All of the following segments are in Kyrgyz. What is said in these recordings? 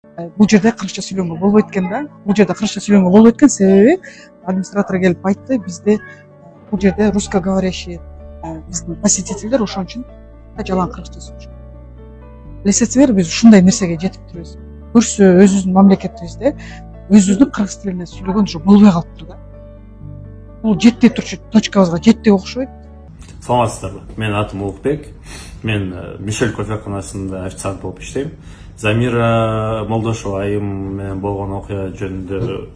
Бул жерде кыргызча сүйлөнгөнгө болбойт экен да. Бул жерде кыргызча сүйлөнгөнгө болбойт экен, себеби администратор келип айтты, бизде бул жерде русскоговорящий биздин посетительдер, ошон үчүн жалаң кыргызча сүйлөшөт. Билесиңер, биз ушундай нерсеге жетип турбуз. Көрсө өзүбүздүн мамлекетибизде өзүбүздүн кыргыз тилинде сүйлөгөн уже болбой калыптыр да. Бул жетпей турчу точкабызга жетти окшойт. Саламатсыздарбы? Менин атым Улукбек. Мен Мишель кофеканасында официант болуп иштейм. Замира Молдошова айым менен болгон окуя жөнүндө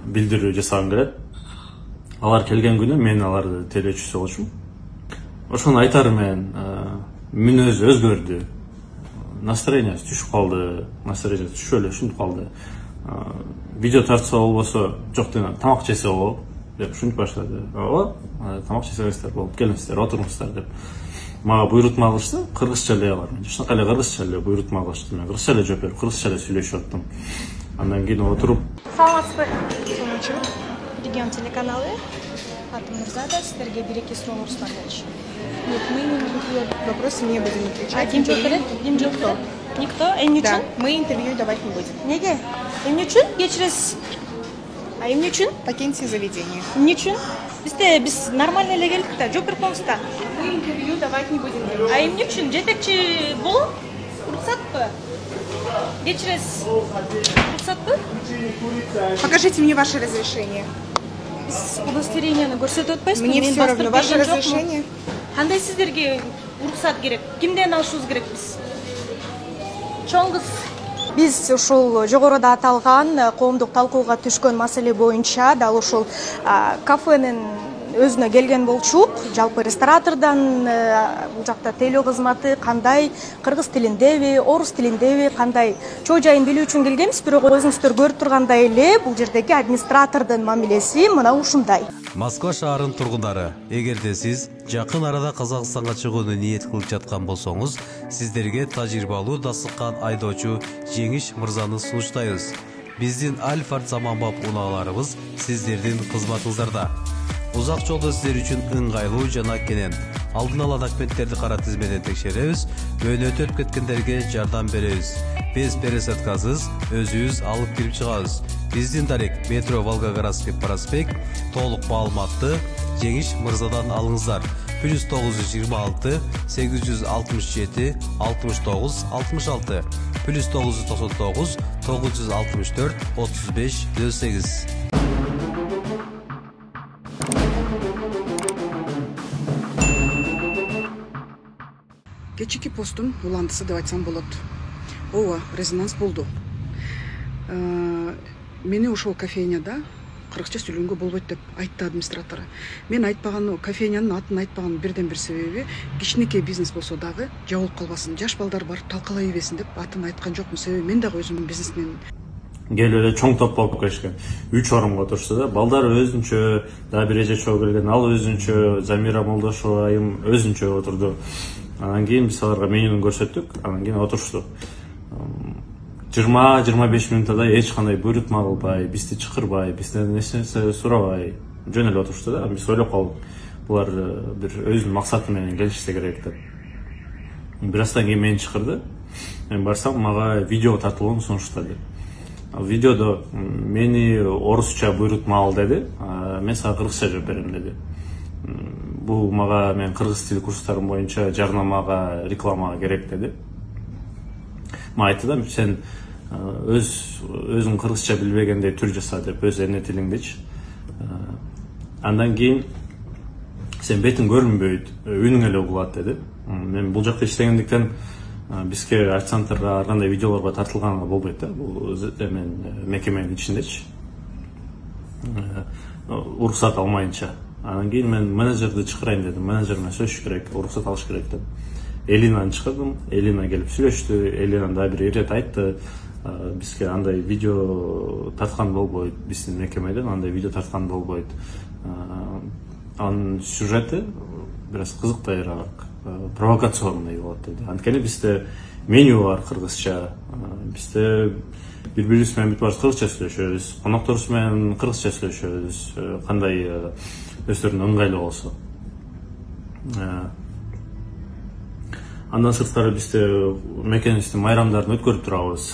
билдирүү жасагым келет. Алар келген күнү мен аларды тейлөөчүсү болчумун. Ошону айтарым мен, мүнөзү өзгөрдү. Настроениясы түшүп калды, настроениясы түшүп эле ушинтип калды. Видео тартса болбосо, жок дейм, тамак жесе болот деп ушинтип баштады. Ооба, тамак жесеңиздер болуп, келиңиздер, отуруңуздар деп. Мага буйрутма кылышты, кыргызча эле алар. Ушунакай эле кыргызча эле буйрутма кылышты. Мен кыргызча эле жооп берип, кыргызча эле сүйлөшүп аттым. Андан кийин отуруп. Саламатсызбы? Регион телеканалы. Атым Мурзада, сиздерге 1-2 суроолорубуз бар болчу. Нет, мы на вопросы не будем отвечать. Ким жооп берет? Никто. Никто? Эмне үчүн? Да, мы интервью давать не будем. Неге? Эмне үчүн? Кечиресиз. Эмне үчүн? Покиньте заведение. Эмне үчүн? Биз нормально эле келдик да, жооп берип коюңуз да. Мы интервью давать не будем. Эмне үчүн? Жетекчи болуп, уруксатпы? Кечиресиз. Уруксатпы? Покажите мне ваше разрешение. Биз удостоверениени көрсөтүп атпайсызбы? Мне все равно. Ваше разрешение? Кандай сиздерге уруксат керек? Кимден алышыбыз керек биз? Чоң кыз. Биз ушул жогоруда аталган коомдук талкууга түшкөн маселе боюнча дал ушул кафенин өзүнө келген болчук. Жалпы ресторатордон бул жакта тейлөө кызматы кандай, кыргыз тилиндеби, орус тилиндеби, кандай чоо жайын билүү үчүн келгенбиз. Бирок өзүңүздөр көрүп тургандай эле бул жердеги администратордун мамилеси мына ушундай. Москва шаарынын тургундары, эгерде сиз жакын арада Казакстанга чыгууну ниет кылып жаткан болсоңуз, сиздерге тажрыйбалуу дасыккан айдоочу Жеңиш мырзаны сунуштайбыз. Биздин Альфард заманбап унааларыбыз сиздердин кызматыңыздарда. Узак жолдо сиздер үчүн ыңгайлуу жана кенен алдын ала документтерди кара тизмеден текшеребиз, өөнөтүп кеткендерге жардам беребиз. Без пересадкасыз өзүбүз алып кирип чыгабыз. Биздин дарек метро Волгоградский проспект. Толук маалыматты Жеңиш мырзадан алыңыздар. +926 867 69 66 +999 964 35 08. Кечики посттун уландысы деп айтсам болот. Ооба, резонанс болду. Мени ошол кофейняда кыргызча сүйлөнгөнгө болбойт деп айтты администратор. Мен айтпаган, кофейнянын атын айтпаган бирден бир себеби кичинекей бизнес болсо дагы жабылып калбасын, жаш балдар барып талкалай бербесин деп атын айткан жокмун. Себеби мен дагы өзүм бизнесмен. Келип эле чоң топ болуп келишкен. 3 орунга отурушты да. Балдар өзүнчө, дагы бир эже чогуу келген, ал өзүнчө, Замира Молдошова айым өзүнчө отурду. Анан кийин биз аларга менюну көрсөттүк, анан кийин отурушту. 20-25 минуттай эч кандай буйрутма кылбай, бизди чакырбай, бизден эч нерсе сурабай, жөн эле отурушту да. Биз ойлоп калдык, булар бир өзүнүн максаты менен келишсе керек деп. Бир аздан кийин мени чакырды. Мен барсам, мага видео тартылган сунуштады. Видеодо мени орусча буйрутма ал деди, мен сага кыргызча жооп берем деди. Бул мага мен кыргыз тили курстарым боюнча жарнамага, рекламага керек деди. Ма айтты да, сен өзүң кыргызча билбегендей түр жаса деп, өз эне тилиңдечи. Андан кийин сен бетиң көрүнбөйт, үнүң эле угулат деди. Мен бул жакта иштегендиктен бизге официанттарга ар кандай видеолорго тартылганга болбойт да. Бул мен мекеменин ичиндечи. Уруксат алмайынча. Андан кийин мен менеджерди чакырайын дедим. Менеджер менен сөйлөшүш керек, уруксат алыш керек деп. Элинаны чакырдым. Элина келип сүйлөштү. Элина дагы бир ирет айтты. Бизге андай видео тарткан болбойт. Биздин мекемеден андай видео тарткан болбойт. Анын сюжети бир аз кызыктайраак, провокационный болот деди. Анткени бизде меню бар кыргызча. Бизде бири-бирибиз менен бүт баарыбыз кыргызча сүйлөшөбүз. Конокторубуз менен кыргызча сүйлөшөбүз. Кандай өздөрүнө ыңгайлуу болсо. Андан сырткары бизде мекенибиздин майрамдарын өткөрүп турабыз.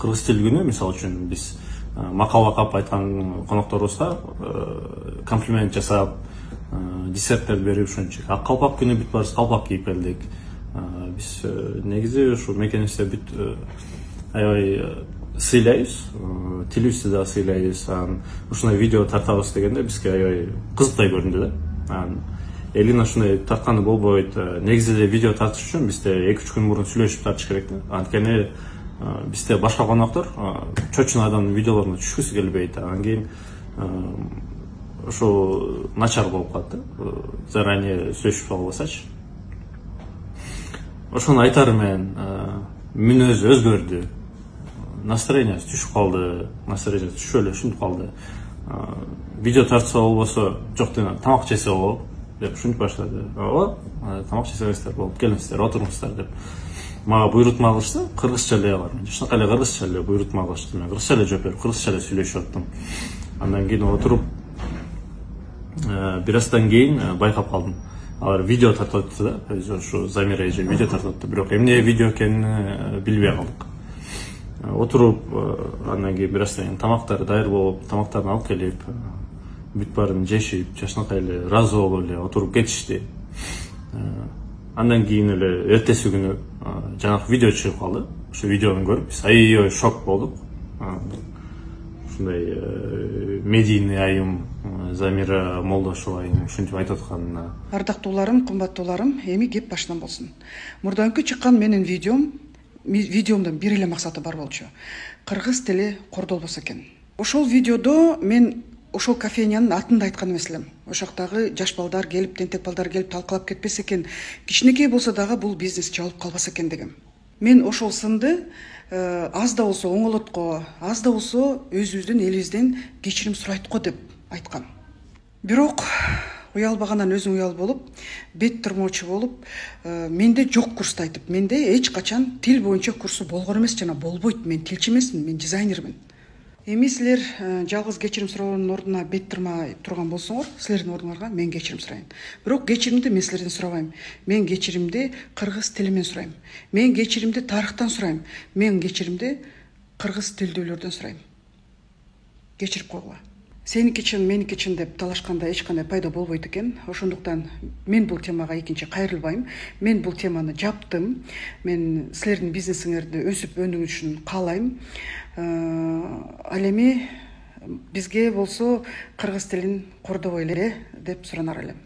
Кыргыз тил күнү мисалы үчүн биз макал окуп айткан конокторубузга комплимент жасап, десерттер берип ушунча. Калпак күнү бүт баарыбыз калпак кийип келдик. Биз негизи ушу мекенибизде бүт аябай сыйлайбыз, тилибизди да сыйлайбыз. Ушундай видео тартабыз дегенде бизге аябай кызыктай көрүндү да. Элин ушундай тартканы болбойт. Негизи эле видео тартыш үчүн бизде 2-3 күн мурун сүйлөшүп тартыш керек да. Анткени бизде башка коноктор чочун адамдын видеолоруна түшкүсү келбейт. Анан кийин ошо начар болуп калат да. Заранее сүйлөшүп албасачы. Ошону айтарым мен, мүнөзү өзгөрдү. Настроениясы түшүп калды. Настроениясы түшүп эле ушинтип калды. Видео тартса болбосо, жок дейм, тамак жесе болот деп ушинтип баштады. Ооба, тамак жесеңиздер болот, келиңиздер, отуруңуздар деп. Мага буйрутма кылышты, кыргызча эле бар. Мен жакшынакай эле кыргызча эле буйрутма кылышты. Мен кыргызча эле жооп берип, кыргызча эле сүйлөшүп аттым. Андан кийин отуруп, бир аздан кийин байкап калдым. Алар видео тартып атты да, ошо Замира эже видео тартып атты. Бирок эмне видео экенин билбей калдык. Отуруп, андан кийин бир аздан кийин тамактар даяр болуп, тамактарын алып келип, бүт баарын жешип, жакшынакай эле ыраазы болуп эле отуруп кетишти. Андан кийин эле эртеси күнү жанагы видео чыгып калды. Ошо видеону көрүп биз аябай шок болдук. Ушундай медийный айым Замира Молдошева айым ушинтип айтып атканына. Ардактууларым, кымбаттууларым, эми кеп башынан болсун. Мурданкы чыккан менин видеомдун бир эле максаты бар болчу. Кыргыз тили кордолбосо экен. Ошол видеодо мен ошол кофейнянын атын да айткан эмес элем. Ошоктагы жаш балдар келип, тентек балдар келип талкалап кетпесе экен, кичинекей болсо дагы бул бизнес жабылып калбаса экен дегем. Мен ошол сынды аз да болсо оңолотко, аз да болсо өзүбүздүн элибизден кечирим сурайт го деп айткам. Бирок уялбагандан өзүң уял болуп, бет турмоочу болуп, менде жок курсту айтып, менде эч качан тил боюнча курсу болгон эмес, жана болбойт. Мен тилчи эмесмин, мен дизайнермин. Эми силер жалгыз кечирим суроонун ордуна бет турмай турган болсоңор, силердин ордуңарга мен кечирим сурайм. Бирок кечиримди мен силерден сурабайм. Мен кечиримди кыргыз тили менен сурайм. Мен кечиримди тарыхтан сурайм. Мен кечиримди кыргыз тилдүүлөрдөн сурайм. Кечирип койгула. Сеники чын, меники чын деп талашканда эч кандай пайда болбойт экен. Ошондуктан мен бул темага экинчи кайрылбайм. Мен бул теманы жаптым. Мен силердин бизнесиңерди өсүп өнүгүшүн каалайм. Ал эми бизге болсо кыргыз тилин кордобой эле деп суранар элем.